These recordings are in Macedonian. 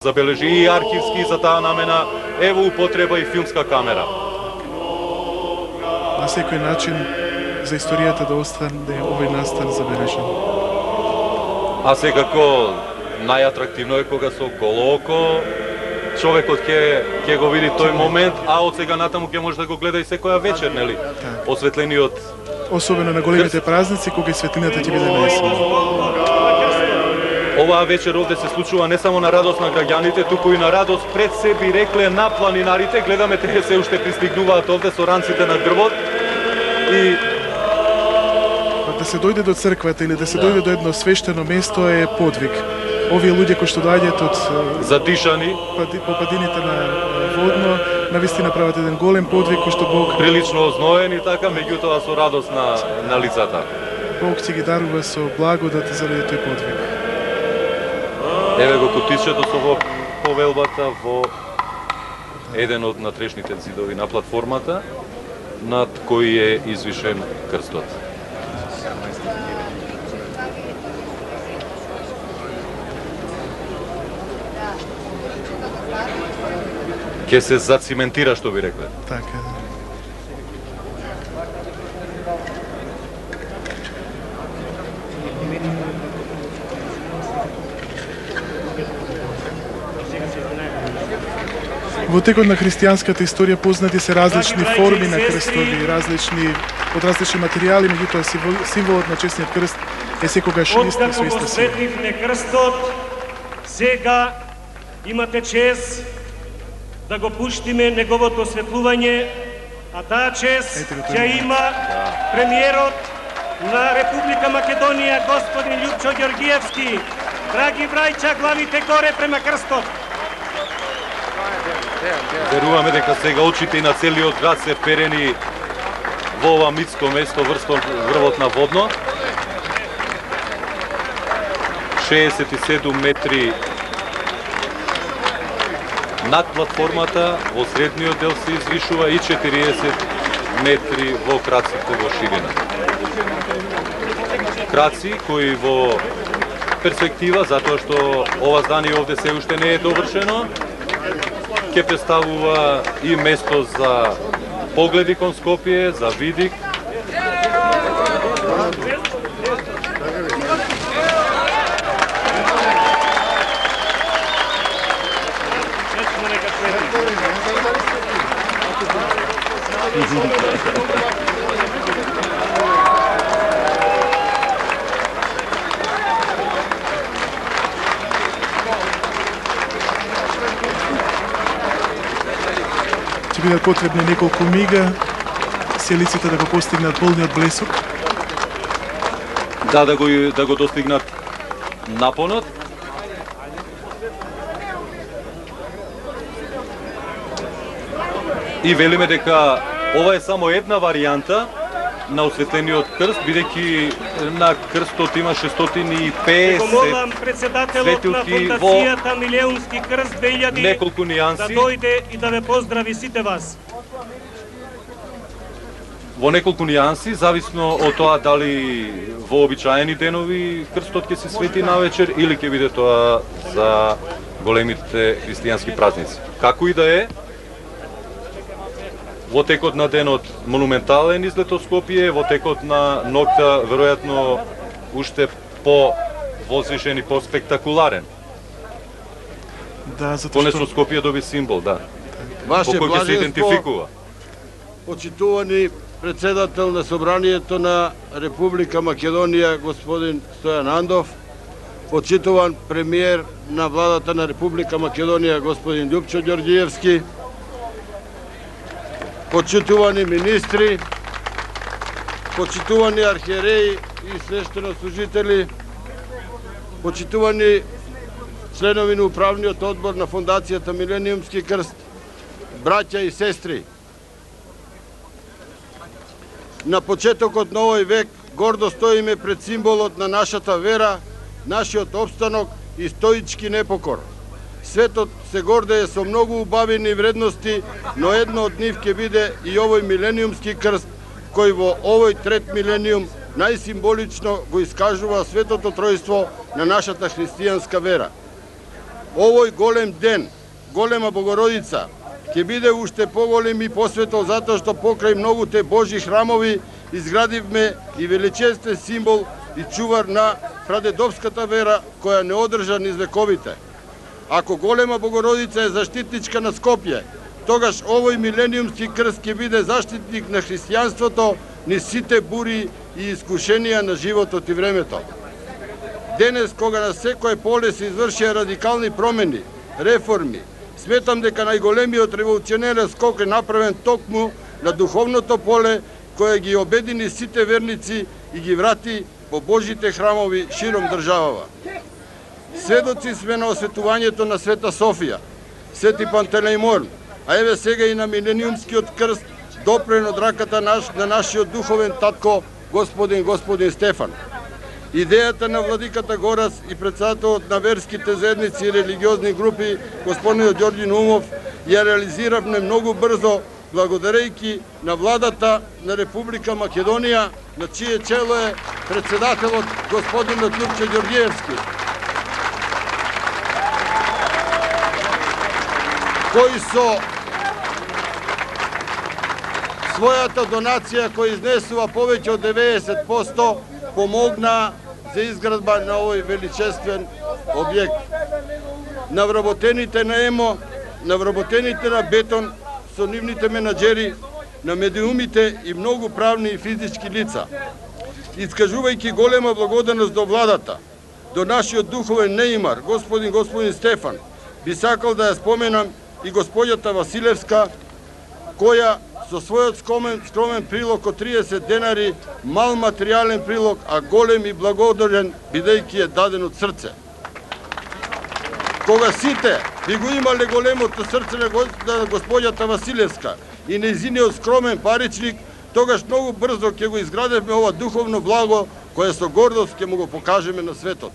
забележи и архивски, за таа намена е во употреба и филмска камера. На секој начин за историјата да остане овој настан забележен. А секако најатрактивно е кога со голо око човекот ќе го види тој момент, а од сега натаму ќе може да го гледа и секоја вечер, нели? Осветлениот. Особено на големите празници кога и светлината ќе биде најсилна. Оваа вечер овде се случува не само на радост на граѓаните, туку и на радост пред се би рекле на планинарите. Гледаме тие се уште пристигнуваат овде со ранците на грбот и да се дојде до црквата или да се дојде до едно свештено место е подвиг. Овие луѓе кои што доаѓаат од задишани по падините на Водно, навистина прават еден голем подвиг кој што Бог прилично озноен и така, меѓутоа со радост на лицата. Бог ќе ги дарува со благодат заради тој подвиг. Еве го кутичето со повелбата во еден од натрешните зидови на платформата, над кој е извишен крстот. Ке се зациментира, што би рекле. Така, да. Во текот на христијанската историја познати се различни форми на крстови, од различни материјали, меѓутоа символот на честниот крст е секогаш ист и со иста сила. Крстот, сега имате чест да го пуштиме неговото осветлување, а таа чест ќе има премиерот на Република Македонија, господин Љупчо Ѓорѓиевски. Драги браќа, главите горе према крстот. Веруваме дека сега очите и на целиот град се вперени во ова митско место врвот на Водно. 67 метри над платформата, во средниот дел се извишува и 40 метри во краците во ширина. Краци кои во перспектива, затоа што ова здание овде се уште не е довршено, ќе представува и место за погледи кон Скопје, за видик. Ќе бидат потребни неколку мига селиците да го постигнат полниот блесок. Да го достигнат напонот. И велиме дека ова е само една варијанта на осветлениот крст, бидејќи на крстот има 650 светилки во Милеунски крст 2000 неколку нијанси. Да дојде и да ве поздрави сите вас. Во неколку нијанси, зависно од тоа дали во обичаени денови крстот ќе се свети навечер или ќе биде тоа за големите христијански празници. Како и да е, во текот на денот монументален излет од Скопје, во текот на ноќта веројатно уште по-возвишен и по-спектакуларен. Да, затоа што Скопје доби символ, да. Ваше кој ќе се идентификува. Почитувани председател на Собранието на Република Македонија господин Стојан Андов, почитуван премиер на владата на Република Македонија господин Љупчо Ѓорѓиевски, почитувани министри, почитувани архиереи и свештенослужители, почитувани членови на управниот одбор на Фондацијата Милениумски крст, браќа и сестри. На почетокот на овој век гордо стоиме пред символот на нашата вера, нашиот опстанок и стоички непокор. Светот се гордее со многу убавени вредности, но едно од нив ќе биде и овој милениумски крст, кој во овој трет милениум најсимволично го искажува светото тројство на нашата христијанска вера. Овој голем ден, голема Богородица, ќе биде уште поголем и посветол затоа што покрај многуте Божји храмови изградивме и величествен символ и чувар на прадедовската вера која не одржа низ вековите. Ако голема Богородица е заштитничка на Скопје, тогаш овој милениумски крст ќе биде заштитник на христијанството низ сите бури и искушенија на животот и времето. Денес, кога на секое поле се извршија радикални промени, реформи, сметам дека најголемиот револуционерен скок е направен токму на духовното поле која ги обедини сите верници и ги врати по Божите храмови широм државава. Сведоци сме на осветувањето на Света Софија, Свети Пантелеимон, а еве сега и на милениумскиот крст допрен од раката на нашиот духовен татко Господин Стефан. Идејата на владиката Горас и председателот на верските заедници и религиозни групи, господинот Ѓорѓи Наумов, ја реализиравме многу брзо, благодарејќи на владата на Република Македонија, на чие чело е председателот господинот Љупче Ѓорѓиевски, кој со својата донација која изнесува повеќе од 90% помогна за изградба на овој величествен објект. На вработените на ЕМО, на вработените на бетон, со нивните менаџери, на медиумите и многу правни и физички лица. Искажувајќи голема благодарност до владата, до нашиот духовен неимар, господин Стефан, би сакал да ја споменам и господјата Василевска, која со својот скромен прилог од 30 денари, мал материјален прилог, а голем и благодарен, бидејќи е даден од срце. Кога сите би го имале големото срце на господјата Василевска и нејзиниот скромен паричник, тогаш многу брзо ќе го изградевме ова духовно благо, кое со гордост ќе му го покажеме на светот.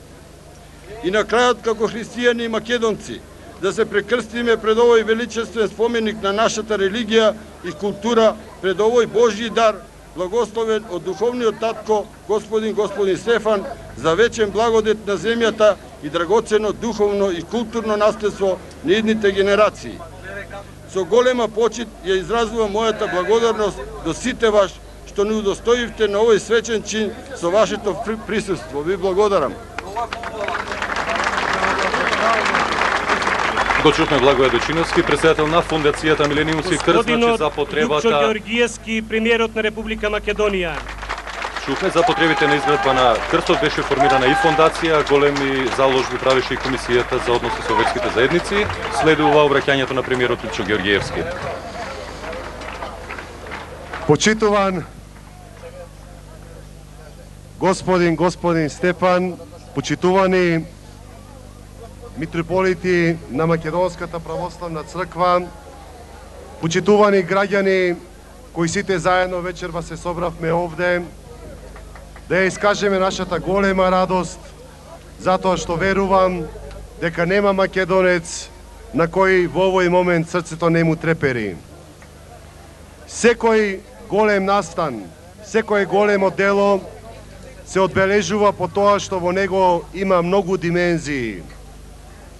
И на крајот, како христијани и македонци, да се прекрстиме пред овој величествен споменик на нашата религија и култура, пред овој Божји дар, благословен од духовниот татко, господин Стефан, за вечен благодет на земјата и драгоцено духовно и културно наследство на идните генерации. Со голема почит ја изразувам мојата благодарност до сите ваш, што ни удостоивте на овој свечен чин со вашето присуство. Ви благодарам. Го чухме Благоје Дочиновски, председател на Фондацијата Милениумски крст, за потребата... Љупчо Ѓорѓиевски, премиерот на Република Македонија. Чухме за потребите на изградба на крстот, беше формирана и фондација, големи заложби правеше и Комисијата за односи со верските заедници. Следува обраќањето на премиерот Љупчо Ѓорѓиевски. Почитуван господин Стефан, почитувани митрополити на Македонската православна црква, почитувани граѓани кои сите заедно вечерва се собравме овде, да ја искажеме нашата голема радост, затоа што верувам дека нема македонец на кој во овој момент срцето не му трепери. Секој голем настан, секој големо дело се одбележува по тоа што во него има многу димензии.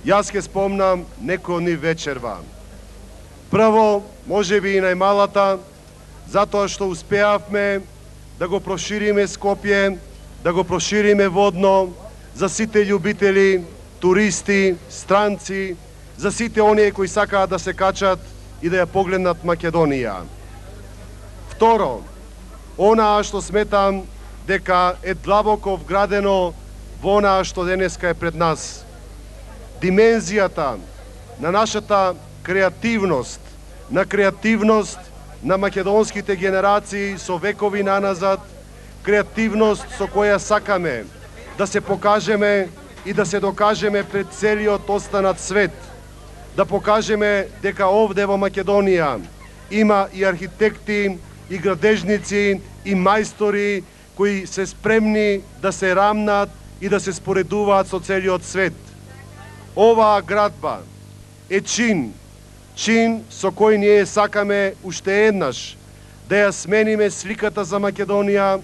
Јас ке спомнам некој од нив вечерва. Прво, можеби и најмалата, затоа што успеавме да го прошириме Скопје, да го прошириме водно за сите љубители, туристи, странци, за сите оние кои сакаат да се качат и да ја погледнат Македонија. Второ, онаа што сметам дека е длабоко вградено во онаа што денеска е пред нас. Димензијата на нашата креативност, на македонските генерации со векови наназад, креативност со која сакаме да се покажеме и да се докажеме пред целиот останат свет, да покажеме дека овде во Македонија има и архитекти, и градежници, и мајстори кои се спремни да се рамнат и да се споредуваат со целиот свет. Оваа градба е чин со кој ние сакаме уште еднаш да ја смениме сликата за Македонија